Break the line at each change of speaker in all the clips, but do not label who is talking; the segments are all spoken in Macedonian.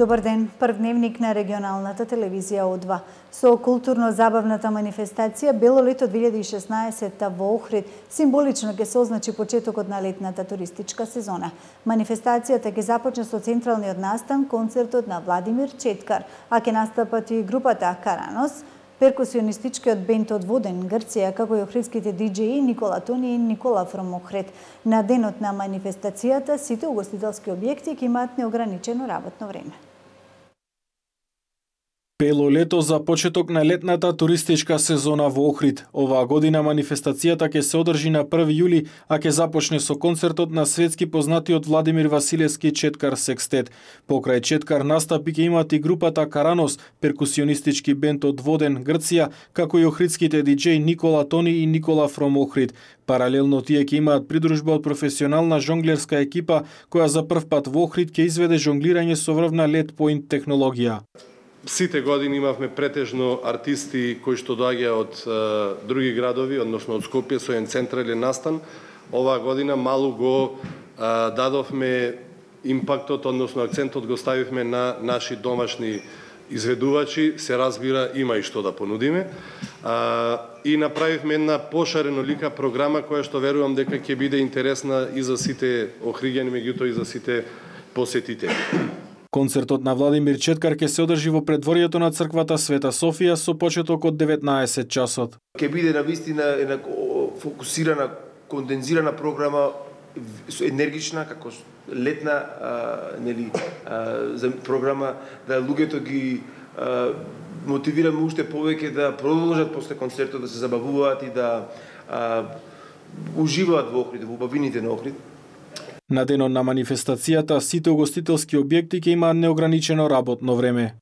Добар ден, прв дневник на регионалната телевизија О2. Со културно-забавната манифестација Бело лето 2016 во Охрид символично ќе се означи почетокот на летната туристичка сезона. Манифестацијата ќе започне со централниот настан, концертот на Владимир Четкар, а ќе настапат и групата Каранос, перкусионистичкиот бенд од Воден, Грција, како и охридските диџеи Никола Тони и Никола Фром Охрид. На денот на манифестацијата сите угостителски објекти ќе имаат неограничено работно време.
Бело лето за почеток на летната туристичка сезона во Охрид. Оваа година манифестацијата ќе се одржи на 1 јули, а ќе започне со концертот на светски познатиот Владимир Василевски Четкар Секстет. Покрај Четкар настапи ќе имаат и групата Каранос, перкусионистички бенд од Воден, Грција, како и охридските диџеи Никола Тони и Никола Фром Охрид. Паралелно тие ќе имаат придружба од професионална жонглерска екипа, која за прв пат во Охрид ќе изведе жонглирање со врвна LED point технологија.
Сите години имавме претежно артисти кои што доаѓаат од други градови, односно од Скопје со еден централен настан. Оваа година малку го дадовме импактот, односно акцентот го ставивме на наши домашни изведувачи, се разбира има и што да понудиме. И направивме една пошаренолика програма која што верувам дека ќе биде интересна и за сите охриѓани, меѓутоа и за сите посетители.
Концертот на Владимир Четкар ќе се одржи во предворието на црквата Света Софија со почеток од 19 часот.
Ќе биде навистина една фокусирана, кондензирана програма, енергична, како летна програма, да луѓето ги мотивираме уште повеќе да продолжат после концертот, да се забавуваат и да уживаат во Охрид, во убавините на Охрид.
На денот на манифестацијата сите угостителски објекти ќе имаат неограничено работно време.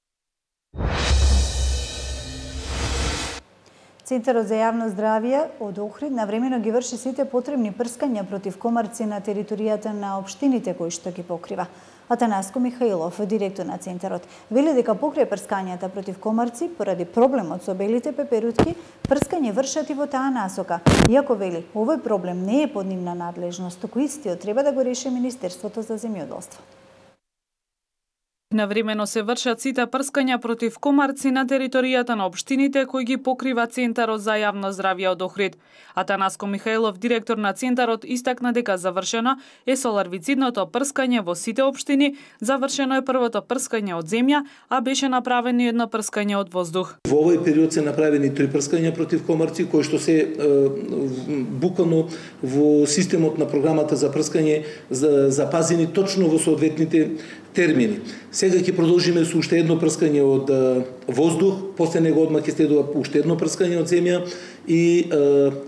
Центарот за јавно здравје од Охрид навремено ги врши сите потребни прскања против комарци на територијата на општините кои што ги покрива. Атанаско Михаилов, директор на Центарот, вели дека покрај прскањата против комарци, поради проблемот со белите пеперутки, прскање вршат и во таа насока. Иако вели, овој проблем не е под нивна надлежност, туку истиот треба да го реши Министерството за земјоделство.
Навремено се вршат сите прскања против комарци на територијата на општините кои ги покрива Центарот за јавно здравје од Охрид. Атанаско Михаилов, директор на Центарот, истакна дека завршено е со ларвицидното прскање во сите општини, завршено е првото прскање од земја, а беше направено едно прскање од воздух.
Во овој период се направени 3 прскања против комарци кои што се буквално во системот на програмата за прскање запазени точно во соодветните термини. Сега ќе продолжиме со уште едно прскање од воздух, после него одма ќе следува уште едно прскање од земја и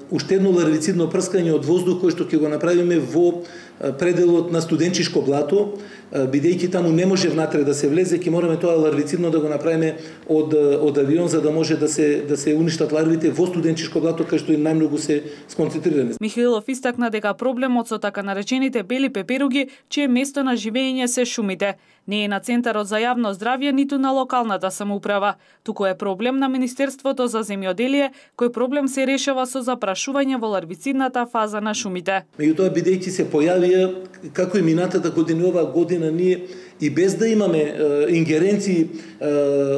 уште едно ларвицидно прскање од воздух кој што ќе го направиме во пределот на Студенчишко блато, бидејќи таму не може внатре да се влезе, ќе мораме тоа ларвицидно да го направиме од авион за да може да се уништат ларвите во Студенчишко блато кај што и најмногу се сконцентрирани.
Михаилов истакна дека проблемот со така наречените бели пеперуги, чие место на живење се шумите, не е на Центарот за јавно здравје ниту на локалната самоуправа, туку е проблем на Министерството за земјоделие, кој проблем се решава со запрашување во ларвицидната фаза на шумите.
Меѓутоа, бидејќи се појавија, како и минатата година, оваа година ние и без да имаме ингеренции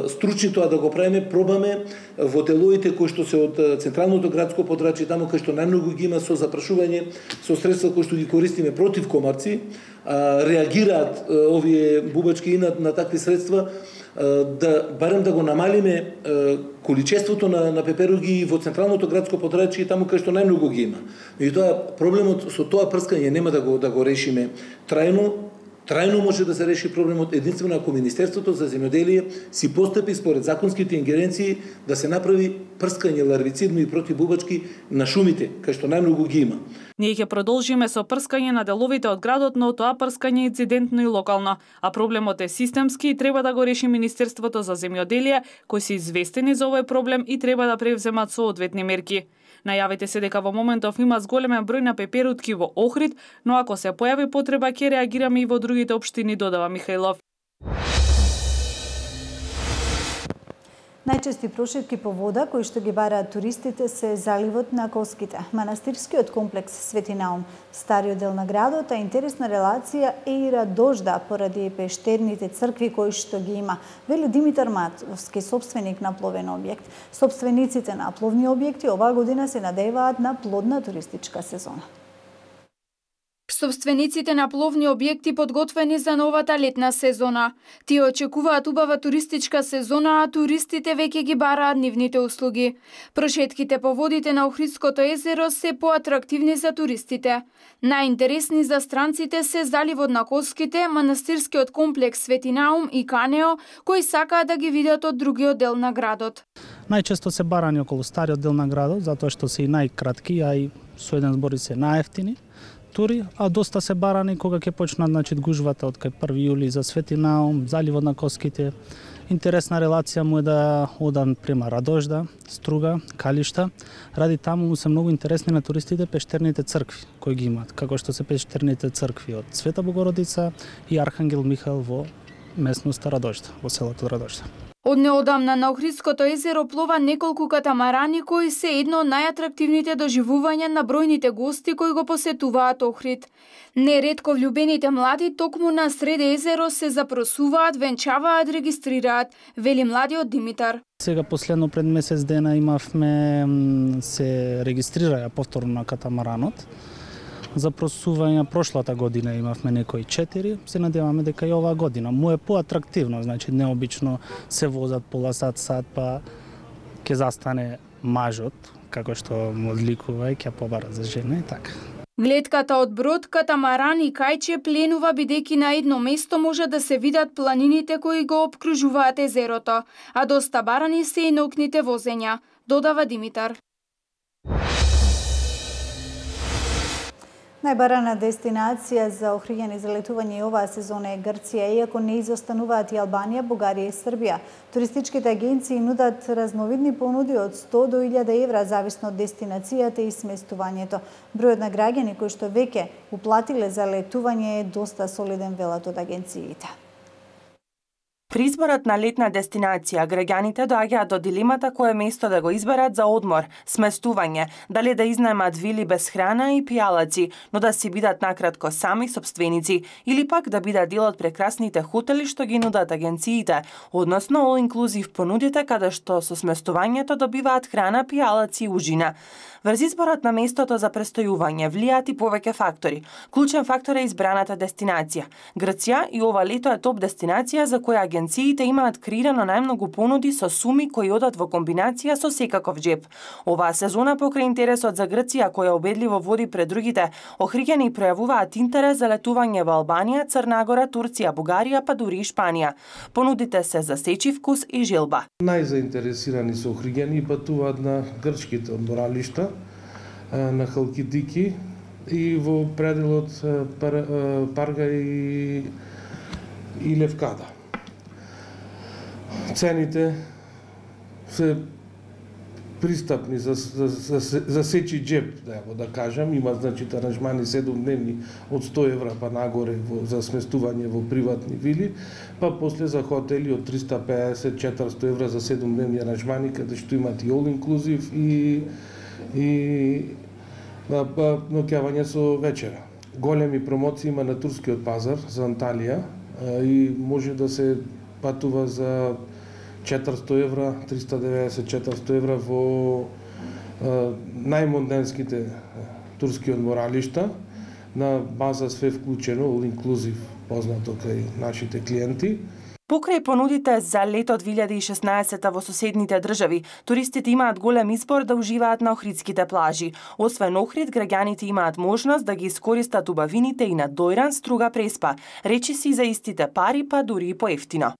стручни тоа да го правиме, пробаме во делоите кои што се од централното градско подрачје, таму кај што најмногу ги има со запрашување со средства кои што ги користиме против комарци, реагираат овие бубачки и на такви средства, да барем да го намалиме количеството на пеперуги во централното градско подрачје, таму кај што најмногу ги има. Меѓутоа, проблемот со тоа прскање нема да го решиме трајно може да се реши проблемот единствено ако Министерството за земјоделие си постапи според законските ингеренции да се направи прскање ларвицидно и противбубачки на шумите, кај што најмногу ги има.
Ние ќе продолжиме со прскање на деловите од градот, но тоа прскање е инцидентно и локално, а проблемот е системски и треба да го реши Министерството за земјоделие, кои се известени за овој проблем и треба да превземат соодветни мерки. Најавите се дека во моментов има зголемен број на пеперутки во Охрид, но ако се појави потреба ќе реагираме и во другите општини, додава Михаилов.
Најчести прошетки по вода кои што ги бараат туристите се заливот на Коските, манастирскиот комплекс Свети Наум, стариот дел на градот, а интересна релација Еира Дожда поради пештерните цркви кои што ги има, вели Димитар Матовски, собственик на пловен објект. Собствениците на пловни објекти оваа година се надеваат на плодна туристичка сезона.
Собствениците на пловни објекти подготвени за новата летна сезона. Тие очекуваат убава туристичка сезона, а туристите веќе ги бараат нивните услуги. Прошетките по водите на Охридското езеро се поатрактивни за туристите. Најинтересни за странците се заливот на Коските, манастирскиот комплекс Свети Наум и Канео, кои сакаат да ги видат од другиот дел на градот.
Најчесто се барани околу стариот дел на градот, затоа што се и најкратки, а и со еден збор се најефтини тури, а доста се барани кога ќе почнат гужвата од кај 1 јули за Свети Наум, заливот на Коските. Интересна релација му е да одан према Радожда, Струга, Калишта. Ради таму му се многу интересни на туристите пештерните цркви кои ги имаат, како што се пештерните цркви од Света Богородица и Архангел Михаел во местноста Радожда, во селото Радожда.
Од неодамна на Охридското езеро плова неколку катамарани кои се едно од најатрактивните доживувања на бројните гости кои го посетуваат Охрид. Неретко влюбените млади токму на сред езеро се запросуваат, венчаваат, регистрираат, вели младиот Димитар.
Сега последно пред месец дена имавме се регистрираја повторно на катамаранот. Запросувања прошлата година имавме некои 4, се надеваме дека и оваа година му е поатрактивно, значи необично се возат пола сат, па ќе застане мажот, како што му одликува и ќе побара за жена и така.
Гледката од брод, катамаран и кајче пленува бидејќи на едно место може да се видат планините кои го опкружуваат езерото, а доста барани се и наукните возења, додава Димитар.
Најбарана дестинација за охриѓани за летување оваа сезона е Грција, иако не изостануваат и Албанија, Бугарија и Србија. Туристичките агенции нудат разновидни понуди од 100 до 1000 евра, зависно од дестинацијата и сместувањето. Бројот на граѓани кои што веќе уплатиле за летување е доста солиден, велат од агенциите.
При изборот на летна дестинација, граѓаните доаѓаат до дилемата кое место да го изберат за одмор, сместување, дали да изнаемат вили без храна и пијалаци, но да си бидат накратко сами собственици, или пак да бидат дел од прекрасните хотели што ги нудат агенциите, односно all-inclusive понудите каде што со сместувањето добиваат храна, пијалаци и ужина. Врз изборот на местото за престојување влијаат и повеќе фактори. Клучен фактор е избраната дестинација. Грција и ова лето е топ дестинација за која агенциите имаат креирано најмногу понуди со суми кои одат во комбинација со секаков џеп. Оваа сезона покрај интересот за Грција која убедливо води пред другите, охриѓани пројавуваат интерес за летување во Албанија, Црна Гора, Турција, Бугарија, па дури и Шпанија. Понудите се за сечи вкус и желба.
Најзаинтересирани се охриѓани патуваат на грчките одморалишта, на Халкидики и во пределот Парга и Левкада. Цените се пристапни за сечи џеп, да кажам. Има аранжмани 7-дневни од 100 евра па нагоре за сместување во приватни вили, па после за хотели од 350-400 евра за 7-дневни аранжмани, каде што имат и all-inclusive и ноќавање со вечера. Големи промоции има на турскиот пазар за Анталија и може да се патува за 400 евра, 390-400 евра во најмонденските турски одморалишта на база све вклучено, all-inclusive, познато кај нашите клиенти.
Покрај понудите за лето 2016 во соседните држави, туристите имаат голем избор да уживаат на охридските плажи. Освен Охрид, граѓаните имаат можност да ги искористат убавините и на Дојран, Струга, Преспа, речиси за истите пари, па дури и поевтино.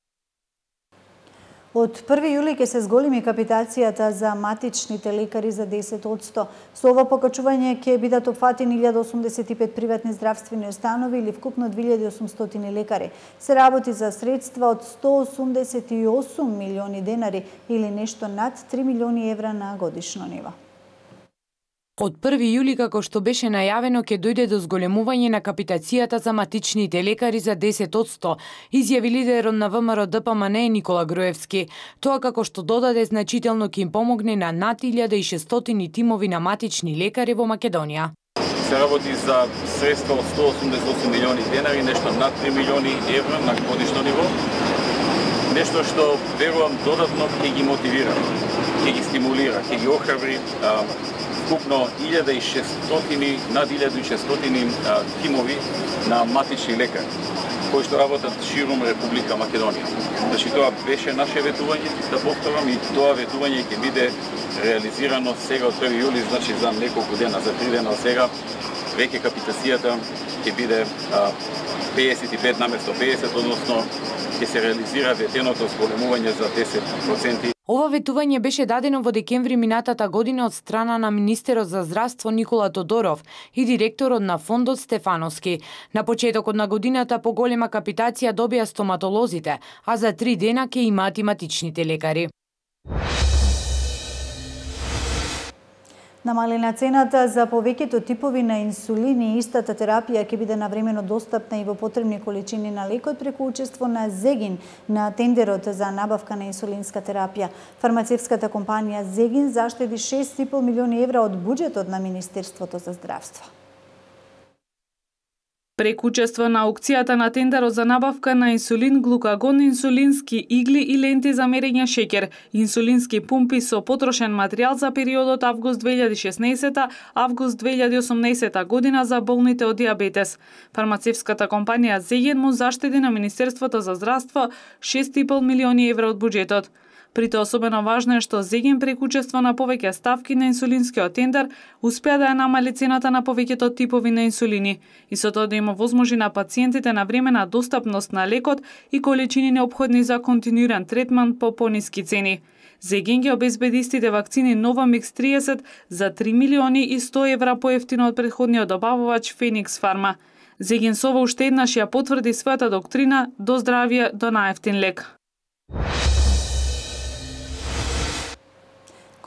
Од 1 јули ќе се зголеми капитацијата за матичните лекари за 10%. Со ова покачување ќе бидат опфатени 1085 приватни здравствени установи или вкупно 2800 лекари. Се работи за средства од 188 милиони денари или нешто над 3 милиони евра на годишно ниво.
Од 1 јули, како што беше најавено, ќе дојде до зголемување на капитацијата за матичните лекари за 10%, изјави лидерот на ВМРО ДПМН Никола Груевски. Тоа како што додаде значително ќе им помогне на над 1600 тимови на матични лекари во Македонија.
Се работи за средства од 188 милиони денари, нешто над 3 милиони евра на годишно ниво. Нешто што верувам додатно ќе ги мотивира, ќе ги стимулира, ќе ги охрабри вкупно 1600, над 1600 тимови на матични лекари, кои што работат широм Република Македонија. Значи тоа беше наше ветување, да повторам, и тоа ветување ќе биде реализирано сега од 1 јули, значи за неколку дена, за 3 дена од сега, веќе капитацијата ќе биде 55 наместо 50, односно ќе се реализира ветеното зголемување за 10%.
Ова ветување беше дадено во декември минатата година од страна на министерот за здравство Никола Тодоров и директорот на фондот Стефановски. На почетокот на годината поголема капитација добија стоматолозите, а за 3 дена ќе имаат и матичните лекари.
Намалена цената за повеќето типови на инсулин и истата терапија ќе биде навремено достапна и во потребни количини на лекот преку учество на Зегин на тендерот за набавка на инсулинска терапија. Фармацевската компанија Зегин заштеди 6,5 милиони евра од буџетот на Министерството за здравство.
Преку учество на аукцијата на тендерот за набавка на инсулин, глукагон, инсулински игли и ленти за мерење шеќер, инсулински пумпи со потрошен материјал за периодот август 2016-август 2018 година за болните од диабетес. Фармацевската компанија Зеген му заштеди на Министерството за здравство 6,5 милиони евра од буџетот. При тоа особено важно е што Зеген преку учество на повеќе ставки на инсулинскиот тендер успеа да ја намали цената на повеќето типови на инсулини и со тоа да има возможи на пациентите на времена достапност на лекот и количини неопходни за континуиран третман по пониски цени. Зеген ги обезбеди истите вакцини Novamix 30 за 3 милиони и 100 евра поевтино од претходниот добавувач Феникс Фарма. Зеген со ова уште еднаш ја потврди својата доктрина до здравје до наевтин лек.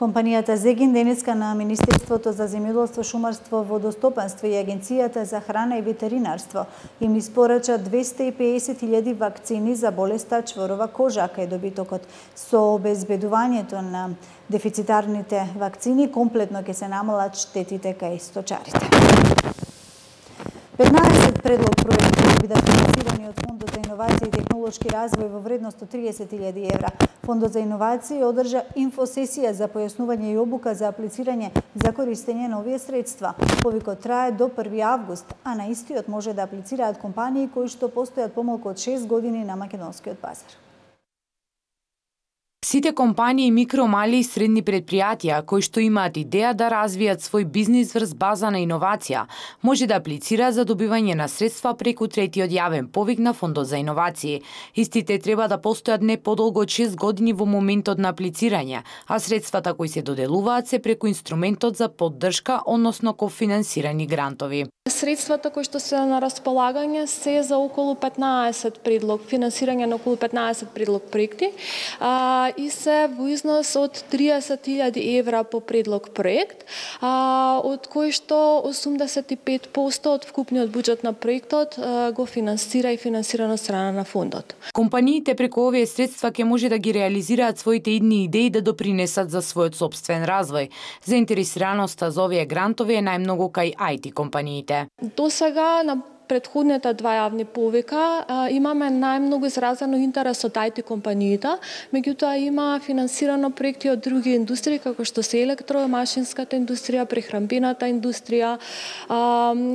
Компанијата Зегин денеска на Министерството за земјоделство, шумарство, водостопанство и Агенцијата за храна и ветеринарство им испорача 250.000 вакцини за болеста чворова кожа, кај добитокот. Со обезбедувањето на дефицитарните вакцини комплетно ќе се намалат штетите кај сточарите. 15 предлог проекти ќе бидат финансирани од Фондот за иновации и технолошки развој во вредност од 30.000 евра. Фондот за иновации одржа инфосесија за појаснување и обука за аплицирање за користење на овие средства. Повикот трае до 1 август, а на истиот може да аплицираат компании кои што постојат помалку од 6 години на македонскиот пазар.
Сите компании, микро, мали и средни предпријатија кои што имаат идеја да развијат свој бизнис врз база на иновација, може да аплицираат за добивање на средства преку третиот јавен повик на Фондот за иновации. Истите треба да постојат не подолго од 6 години во моментот на аплицирање, а средствата кои се доделуваат се преку инструментот за поддршка, односно кофинансирани грантови.
Средствата кои што се на располагање се за околу 15 предлог, финансирање на околу 15 предлог проекти и се во износ од 30.000 евра по предлог проект, од кои што 85% од вкупниот буџет на проектот го финансира и финансирано од страна на фондот.
Компаниите преку овие средства ќе може да ги реализираат своите идни идеи да допринесат за својот сопствен развој. Заинтересираноста за овие грантови е најмногу кај IT компаниите.
До сега на предходните два јавни повика имаме најмногу изразено интерес од IT компаниите, меѓутоа има финансирано проекти од други индустрии како што се електромашинската индустрија, прехранбената индустрија,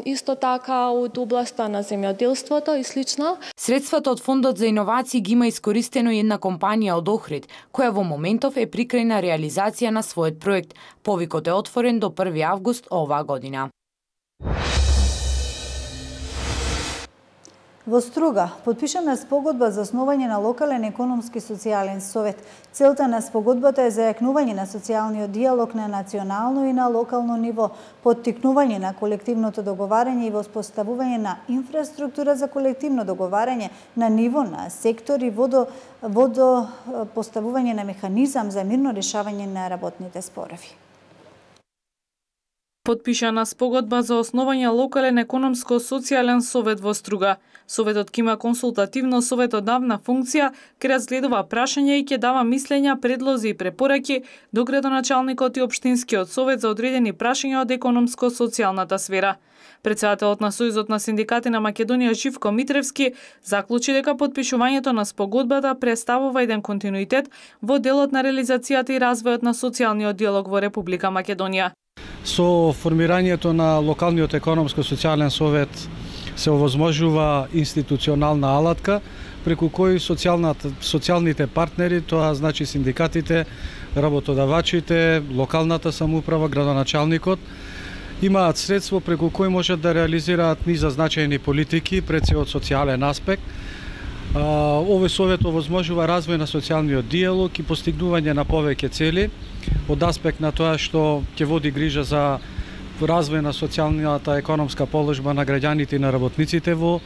исто така од областа на земјоделството и слично.
Средствата од Фондот за иновации ги има искористено и една компанија од Охрид, која во моментов е при крај на реализација на својот проект. Повикот е отворен до 1 август оваа година.
Во Струга потпишана спогодба за основање на локален економски социјален совет. Целта на спогодбата е зајакнување на социјалниот диалог на национално и на локално ниво, поттикнување на колективното договарање и воспоставување на инфраструктура за колективно договарање на ниво на сектор и поставување на механизам за мирно решавање на работните спорови.
Потпишана спогодба за основање локален економско-социјален совет во Струга. Советот ќе има консултативно советодавна функција, ќе разгледува прашања и ќе дава мислења, предлози и препораки до градоначалникот и општинскиот совет за одредени прашања од економско-социјалната сфера. Председателот на Сојузот на синдикати на Македонија Живко Митревски заклучи дека потпишувањето на спогодбата представува еден континуитет во делот на реализацијата и развојот на социјалниот диалог во Република Македонија.
Со формирањето на локалниот економско-социјален совет се овозможува институционална алатка преку кој социјалните партнери, тоа значи синдикатите, работодавачите, локалната самоуправа, градоначалникот, имаат средство преку кој можат да реализираат низа значајни политики пред се од социјален аспект. Овој совет овозможува развој на социјалниот диалог и постигнување на повеќе цели од аспект на тоа што ќе води грижа за развој на социјалната економска положба на граѓаните и на работниците во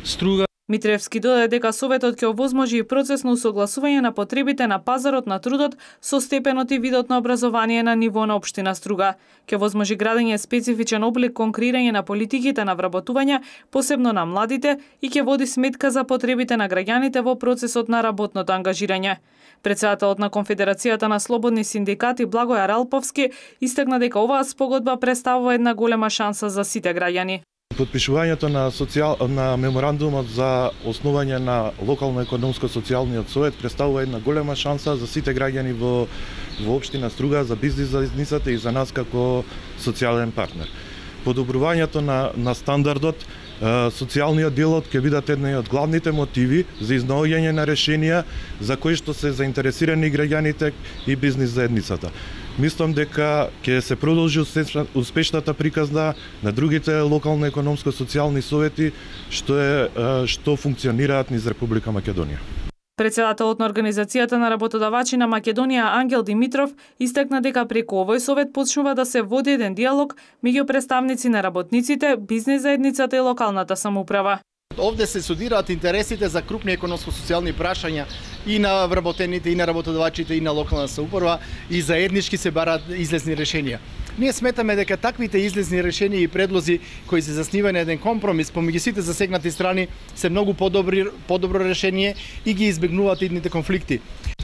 Струга.
Митревски додаде дека советот ќе овозможи и процесно усогласување на потребите на пазарот на трудот со степенот и видот на образование на ниво на општина Струга. Ќе возможи градење специфичен облик кон креирање на политиките на вработување, посебно на младите, и ќе води сметка за потребите на граѓаните во процесот на работното ангажирање. Председателот на Конфедерацијата на слободни синдикати Благојар Алповски истакна дека оваа спогодба представува една голема шанса за сите граѓани.
Потпишувањето на меморандумот за основање на локално економско-социјалниот совет представува една голема шанса за сите граѓани во општина Струга, за бизнис заедницата и за нас како социјален партнер. Подобрувањето на стандардот, социјалниот диалог ќе бидат едни од главните мотиви за изнаоѓање на решенија за кои што се заинтересирани граѓаните и бизнис заедницата. Мислам дека ќе се продолжи успешната приказна на другите локално економско-социјални совети што функционираат низ Република Македонија.
Председателот на Организацијата на работодавачи на Македонија Ангел Димитров истакна дека преку овој совет почнува да се води еден диалог меѓу представници на работниците, бизнис заедницата и локалната самоуправа.
Овде се судираат интересите за крупни економско-социјални прашања и на вработените, и на работодавачите, и на локална самоуправа, и заеднички се бараат излезни решенија. Ние сметаме дека таквите излезни решенија и предлози кои се заснива на еден компромис помеѓу сите засегнати страни се многу подобро решение и ги избегнуваат идните конфликти.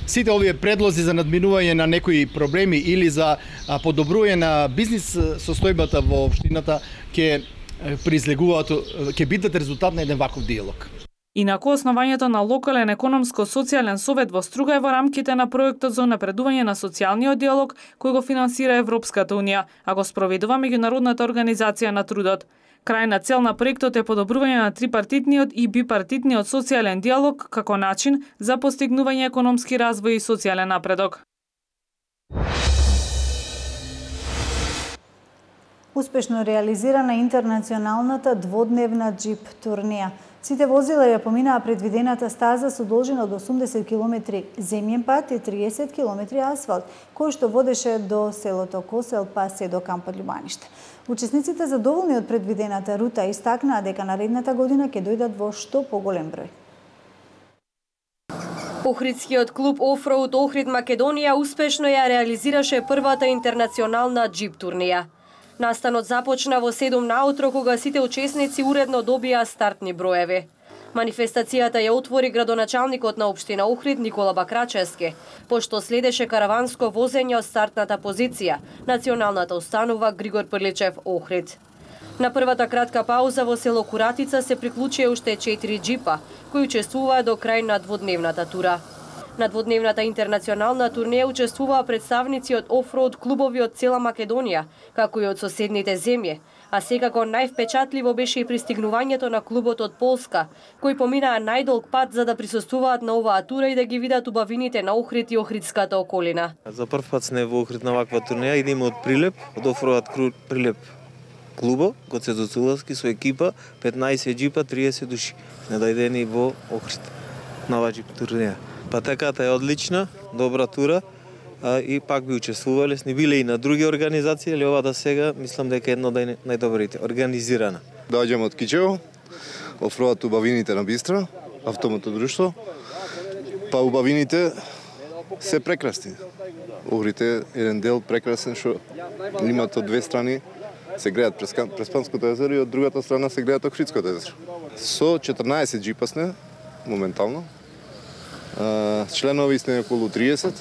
Сите овие предлози за надминување на некои проблеми или за подобрување на бизнис состојбата во општината ќе бидат резултат на еден ваков диалог.
Инаку, основањето на локален економско-социјален совет во Струга е во рамките на проектот за напредување на социјалниот диалог кој го финансира Европската унија, а го спроведува Меѓународната организација на трудот. Крајна цел на проектот е подобрување на трипартитниот и бипартитниот социјален диалог како начин за постигнување економски развој и социјален напредок.
Успешно реализирана интернационалната дводневна джип турнија. Сите возила ја поминаа предвидената стаза со должина од 80 км земјен пат и 30 км асфалт, кој што водеше до селото Косел па се до кампот Љубаниште. Учесниците задоволни од предвидената рута истакнаа дека наредната година ќе дојдат во што поголем број.
Охридскиот клуб Offroad Охрид Македонија успешно ја реализираше првата интернационална джип турнија. Настанот започна во 7 наутро кога сите учесници уредно добија стартни броеви. Манифестацијата ја отвори градоначалникот на општина Охрид Никола Бакрачевски, пошто следеше караванско возење од стартната позиција, националната установа Григор Прличев Охрид. На првата кратка пауза во село Куратица се приклучија уште 4 джипа, кои учествуваа до крај на дводневната тура. На дводневната интернационална турнеја учествуваа представници од офроуд клубови од цела Македонија, како и од соседните земји, а секако највпечатливо беше и пристигнувањето на клубот од Полска, кои поминаа најдолг пат за да присуствуваат на оваа тура и да ги видат убавините на Охрид и охридската околина.
За прв пат сме во Охрид на ваква турнеја, идеме од Прилеп, од офроуд Прилеп клубо, Гоце Доцуловски со екипа, 15 джипа, 30 души, најдени во Охрид на оваа джип турнеја. Патеката е одлична, добра тура и пак би учествувале, сни биле и на други организации, али оваа сега мислам дека е едно од најдобрите, организирана.
Доаѓам од Кичево, офроат убавините на Бистра, автомото друштво. Па убавините се прекрасни. Охрид е еден дел прекрасен што имат од две страни се гледат Преспанското езеро и од другата страна се гледат Охридското езеро. Со 14 джипа сме моментално. Членови сме околу 30.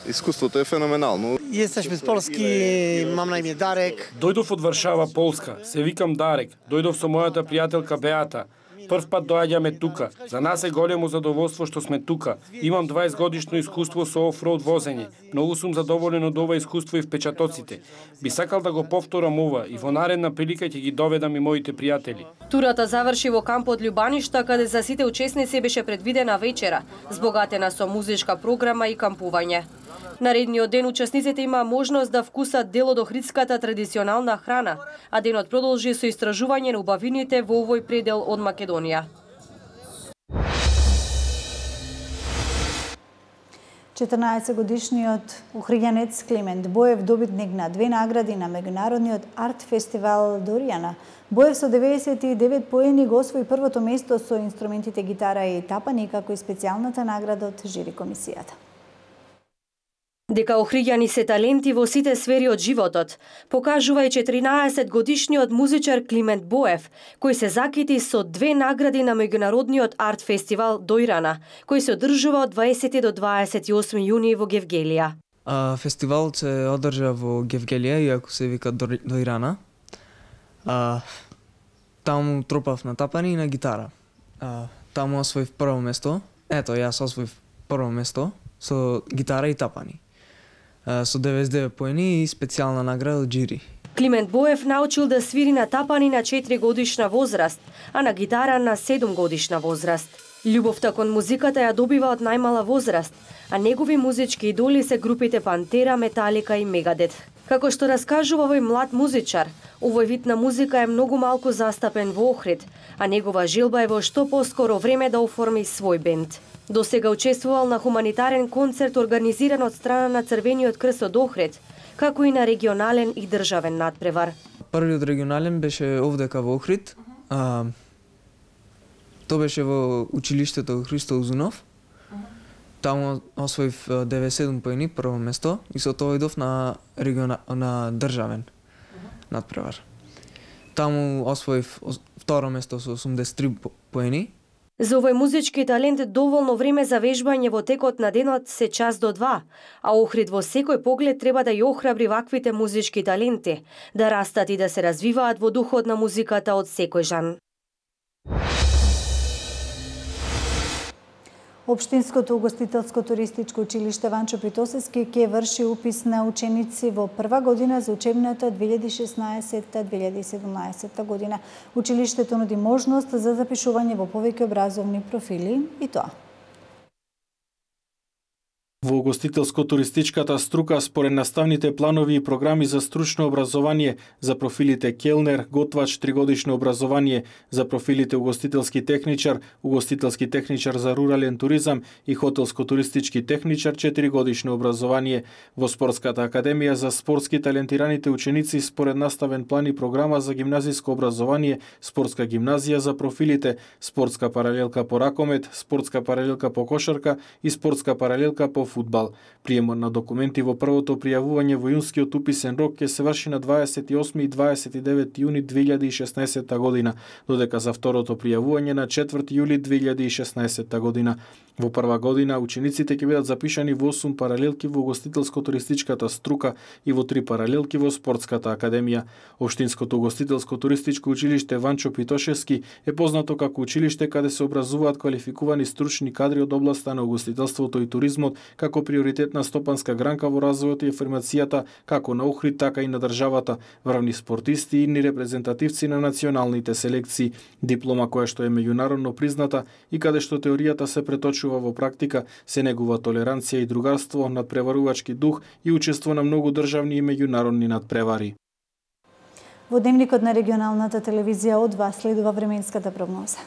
Искуството е феноменално.
Јесташ полски, мам на име Дарек.
Дојдов од Варшава, Полска. Се викам Дарек. Дојдов со мојата пријателка Беата. Прв пат доаѓаме тука. За нас е големо задоволство што сме тука. Имам 20 годишно искуство со офроуд возење. Многу сум задоволен од ова искуство и впечатоците. Би сакал да го повторам ова и во наредна прилика ќе ги доведам и моите пријатели.
Турата заврши во кампот Љубаништа, каде за сите учесници беше предвидена вечера, збогатена со музичка програма и кампување. Наредниот ден учесниците имаа можност да вкусат дел од охридската традиционална храна, а денот продолжи со истражување на убавините во овој предел од Македонија.
14-годишниот охриѓанец Климент Боев, добитник на 2 награди на меѓународниот арт фестивал Доријана. Боев со 99 поени го освои првото место со инструментите гитара и тапани, како и специјалната награда од жири комисијата.
Дека охриѓани се таленти во сите сфери од животот, покажува и 14-годишниот музичар Климент Боев, кој се закити со 2 награди на меѓународниот арт фестивал Дојрана, кој се одржува од 20 до 28 јуни во Гевгелија.
Фестивалот се одржа во Гевгелија, иако се вика Дојрана. Таму тропав на тапани и на гитара. Таму освоив прво место. Ето, јас освоив прво место со гитара и тапани. Со 99 поени и специјална награда од жири.
Климент Боев научил да свири на тапани на 4 годишна возраст, а на гитара на 7 годишна возраст. Љубовта кон музиката ја добива од најмала возраст, а негови музички идоли се групите Пантера, Металика и Мегадет. Како што раскажува овој млад музичар, овој вид на музика е многу малку застапен во Охрид, а негова желба е во што поскоро време да оформи свој бенд. До сега учествувал на хуманитарен концерт организиран од страна на Црвениот крст од Охрид, како и на регионален и државен надпревар.
Првиот регионален беше овдека во Охрид. Тоа беше во училиштето Христо Узунов. Таму освоив 97 поени, прво место, и со тоа идов на државен надпревар. Таму освоив второ место со 83 поени.
За овој музички талент доволно време за вежбање во текот на денот се час до 2, а Охрид во секој поглед треба да ја охрабри ваквите музички таленти, да растат и да се развиваат во духот на музиката од секој жан.
Општинското угостителско-туристичко училиште Ванчо Питосевски ќе врши упис на ученици во прва година за учебната 2016-2017 година. Училиштето нуди можност за запишување во повеќе образовни профили и тоа.
Во угостителско-туристичката струка, според наставните планови и програми за стручно образование, за профилите келнер, готвач 3-годишно образование, за профилите угостителски техничар за рурален туризам и хотелско-туристички техничар 4-годишно образование, во спортската академија за спортски талентираните ученици според наставен план и програма за гимназиско образование, спортска гимназија за профилите спортска паралелка по ракомет, спортска паралелка по кошарка и спортска паралелка по фудбал. Приемот на документи во првото пријавување во јунскиот уписен рок ќе се врши на 28 и 29 јуни 2016 година, додека за второто пријавување на 4 јули 2016 година. Во прва година учениците ќе бидат запишани во 8 паралелки во угостителско-туристичката струка и во 3 паралелки во спортската академија. Општинското угостителско-туристичко училиште Ванчо Питошевски е познато како училиште каде се образуваат квалификувани стручни кадри од областа на угостителството и туризмот како приоритетна стопанска гранка во развојот и афирмацијата како на Охрид, така и на државата, врвни спортисти и репрезентативци на националните селекции, диплома која што е меѓународно призната и каде што теоријата се преточува во практика, се негува толеранција и другарство, надпреварувачки дух и учество на многу државни и меѓународни надпревари.
Во дневникот на регионалната телевизија од вас следува временската прогноза.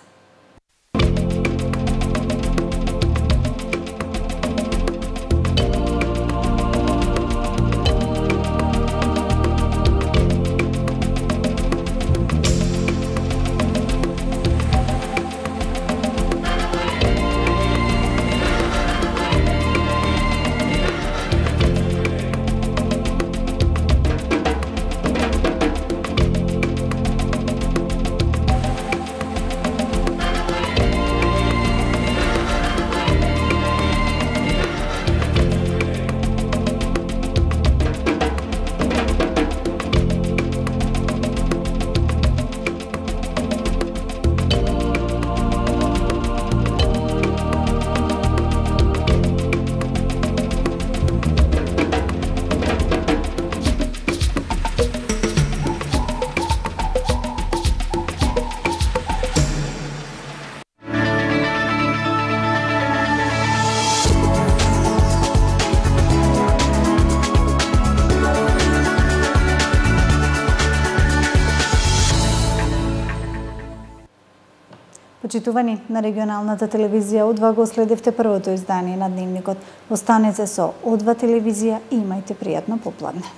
Почитувани, на регионалната телевизија О2 го следевте првото издание на Дневникот. Останете со О2 телевизија и имајте пријатно попладне.